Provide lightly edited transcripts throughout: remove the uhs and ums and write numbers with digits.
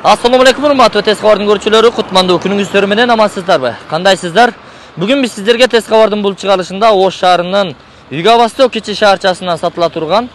Assalamu alaikum урматтуу Тез кабардын көрүүчүлөрү, кутмандуу күнүңүздөр менен амансыздарбы? Кандайсыздар? Бүгүн биз сиздерге Тез кабардын бул чыгарылышында Ош шаарынын Юго-Восток кичи шаарчасынан сатыла турган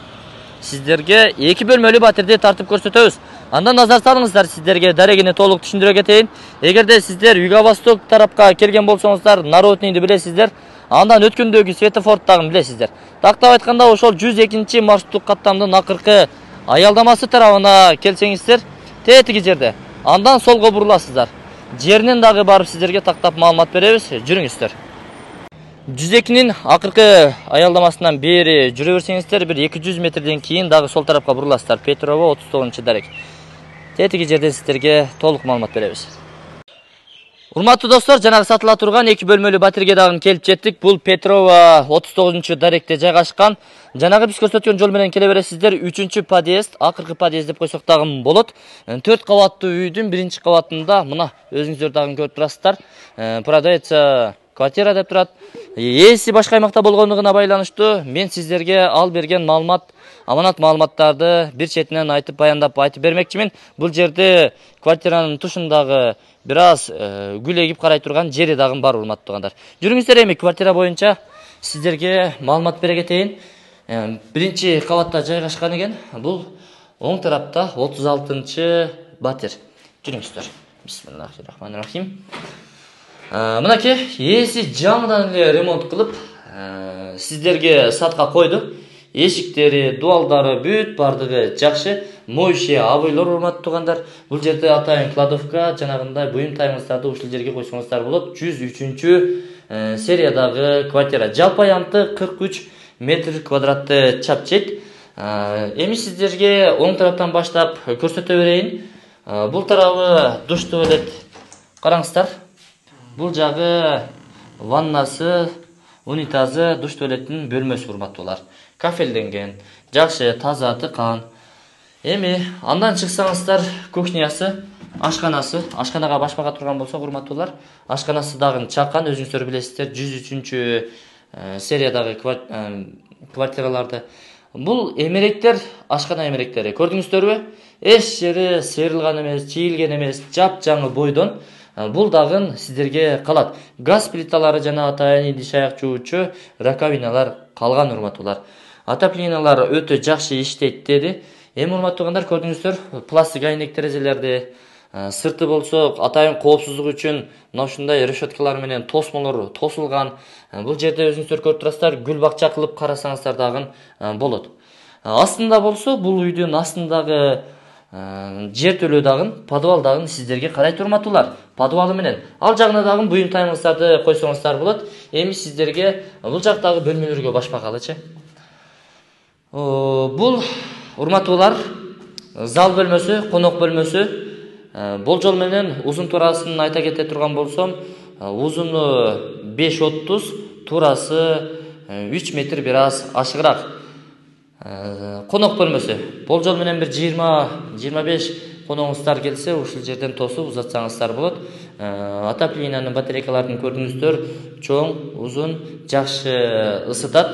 сиздерге 2 бөлмөлүү батирди тартып көрсөтөбүз. Андан назар салыңыздар, сиздерге дарегини толук түшүндүрө кетейин. Эгерде сиздер Юго-Восток тарапка келген болсоңуздар, Народныйды билесиздер. Андан өткөндөгү светофордтагын билесиздер. Тактап айтканда, ошол 102 маршруттук каттамдын акыркы аялдамасы тарабына келсеңиздер, тетиги жерде. Андан солго буруласыздар. Жеринен дагы барып сиздерге тактап маалымат беребиз. Жүрүңүздөр. 102-нин акыркы аялдамасынан бери жүрө берсеңиздер, бир 200 метрден кийин дагы сол тарапка буруласыздар. Петрова 39-дарек. Тетиги жерден сиздерге толук маалымат беребиз. Урматтуу достор, жанагы сатыла турган 2 бөлмөлүү батирге дагы келип жеттик. Бул Петрова 39-даректе жайгашкан. Жанагы биз көрсөткөн жол менен келе бересиздер. 3-подъезд, акыркы подъезд деп койсок дагы болот. 4 кабаттуу үйдүн 1-кабатында мына өзүңүздөр дагы көрүп турасыздар. Продается квартира деп турат. Ээси башка аймакта болгондугуна байланыштуу мен сиздерге ал берген маалымат, аманат маалыматтарды бир четинен айтып бермекчимин. Бул жерде квартиранын тушундагы бир аз гүл эгип карай турган жери дагы бар, урматтуу туугандар. Жүрүңүздөр, эми квартира боюнча сиздерге маалымат бере кетейин. 1-кабатта жайгашкан экен. Бул оң тарапта 36-батир. Жүрүңүздөр. Бисмиллахиррахманиррахим. Мынакей, ээси жаңыдан эле ремонт кылып, сиздерге сатка койду. Эшиктери, дуалдары бүт бардыгы жакшы. Моющие абыйлар, урматтуу туугандар. Бул жерде атайын кладовка, жанагындай буюм тайыңыздарды ушул жерге койсоңуздар болот. 103-сериядагы квартира. Жалпы аянты 43 метр квадратты чапчет. Эми сиздерге оң тараптан баштап көрсөтө берейин. Бул тарабы душ туалет. Караңыздар. Бул жагы ваннасы, унитазы, душ туалеттин бөлмөсү, урматтуулар. Кафелденген, жакшы, таза, тыкан. Эми андан чыксаңыздар, кухнясы, ашканасы, ашканага башпага турган болсок, урматтуулар, ашканасы дагы чакан, өзүңүздөр билесиздер, 103-сериядагы квартираларды. Бул эмеректер, ашкана эмеректери. Көрдүңүздөрбү? Эч жери сыйрылган эмес, чийилген эмес, жап-жаңы бойдон. Бул дагы сиздерге калат. Газ плиталары жана атайын идиш аяк жуучу раковиналар калган, урматтуулар. Отоплениялар өтө жакшы иштейт деди. Эми урматтуу туугандар, көрдүңүздөр, пластик айнек терезелерди, сырты болсо атайын коопсуздук үчүн мына ушундай решеткалар менен тосмолор тосулган. Бул жерде өзүңүздөр көрүп турасыздар, гүл бакча кылып карасаңыздар дагы болот. Астында болсо, бул үйдүн астындагы жер төлөө дагы, подвал дагы сиздерге карайт, урматтуулар. Подвалы менен ал жагына дагы буюм тайыңыздарды койсоңуздар болот. Эми сиздерге бул жактагы бөлмөлөргө башпакалычы. Бул, урматтуулар, зал бөлмөсү, конок бөлмөсү. Болжол менен узун турасын айта кете турган болсом, узуну 5.30, турасы 3 метр бир аз ашыгыраак. Конок бөлмөсү. Болжол менен бир 20-25 коногуңуздар келсе, ушул жерден тосуп узатсаңыздар болот. Отоплениянын батарейкаларын көрдүңүздөр, чоң, узун, жакшы ысытат.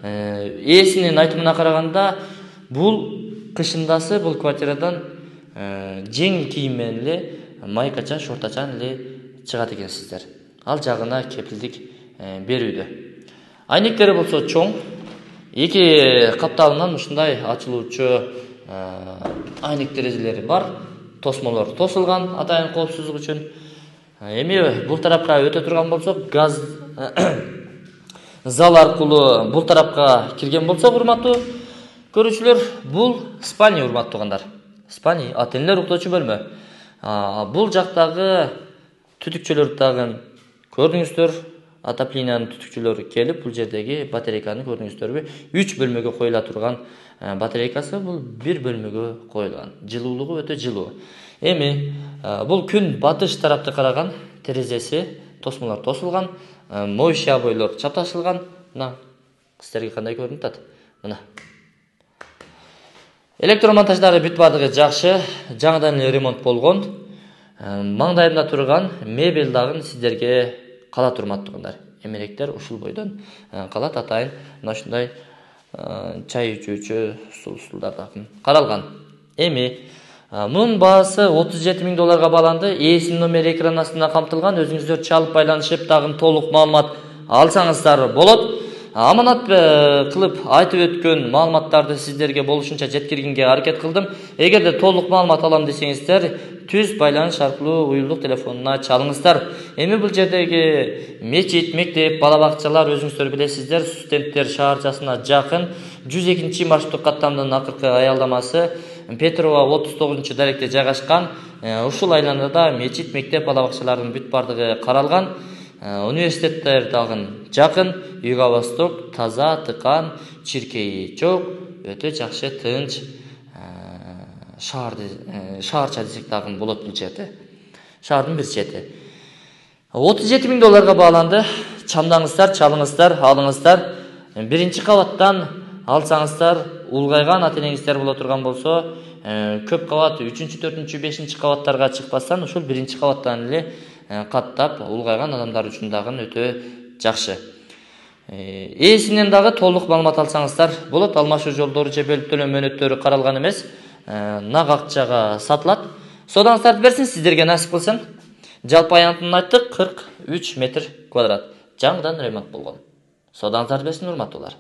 Ээсинин айтымына караганда, бул кышындасы бул квартирадан жеңил кийим менен эле майкача, шортачан эле чыгат экенсиздер. Ал жагына кепилдик берүүдө. Айнектери болсо чоң. 2 капталынан ушундай ачылуучу айнек терезелери бар. Тосмолор тосулган атайын коопсуздук үчүн. Эми бул тарапка өтө турган болсок, газ зал аркылуу бул тарапка кирген болсок, урматтуу көрүүчүлөр, бул спальня, урматтуу туугандар. Спальня, ата-энелер уктоочу бөлмө. Бул жактагы түтүкчөлөрдү дагы көрдүңүздөр. Отоплениянын түтүкчөлөрү келип, бул жердеги батарейканы көрдүңүздөрбү? 3 бөлмөгө коюла турган батарейкасы бул 1 бөлмөгө коюлган. Жылуулугу өтө жылуу. Эми бул күн батыш тарапты караган, терезеси, тосмолор тосулган, моющие абойлор чапташылган. Мына сиздерге кандай көрүнүп атат? Мына. Электромонтаждары бүт бардыгы жакшы, жаңыдан эле ремонт болгон. Маңдайымда турган мебель дагы сиздерге калат, урматтуу туугандар. Эмеректер ушул бойдон калат, атайын мына ушундай чай ичүүчү стулдар дагы каралган. Эми Мунун баасы $37.000 бааланды. Ээсинин номери экран астында камтылган. Өзүңүздөр чалып байланышып, дагы толук маалымат алсаңыздар болот. Аманат кылып айтып өткөн маалыматтарды сиздерге болушунча жеткиргенге аракет кылдым. Эгерде толук маалымат алам десеңиздер, түз байланыш аркылуу уюлдук телефонуна чалыңыздар. Эми бул жердеги мечит, мектеп, бала бакчалар өзүңүздөр билесиздер, студенттер шаарчасына жакын. 102 маршруттук каттамдын акыркы аялдамасы Петрова 39 даректе жайгашкан. Ушул айланада мечит, мектеп, бала бакчалардын бүт бардыгы каралган. Университеттер дагы жакын. Юго-Восток таза, тыкан, чиркейи жок, өтө жакшы, тынч шаарча десек дагы болот бул жерде. Шаардын бир чети. $37.000 бааланды. Чамдаңыздар, чалыңыздар, алыңыздар. Биринчи кабаттан алсаңыздар, улгайган ата-энеңиздер боло турган болсо, көп кабат 3-чү, 4-чү, 5-чи кабаттарга чыкпастан ушул биринчи кабаттан эле каттап улгайган адамдар үчүн дагы өтө жакшы. Ээсинен дагы толук маалымат алсаңыздар болот. Алмашуу жолдору же бөлүп төлөө мөөнөттөрү каралган эмес. Нак акчага сатылат. Содаңыздарды берсин, сиздерге насип кылсын. Жалпы аянтын айттык, 43 метр квадрат. Жаңыдан ремонт болгон. Содаңыздарды берсин, урматтуулар.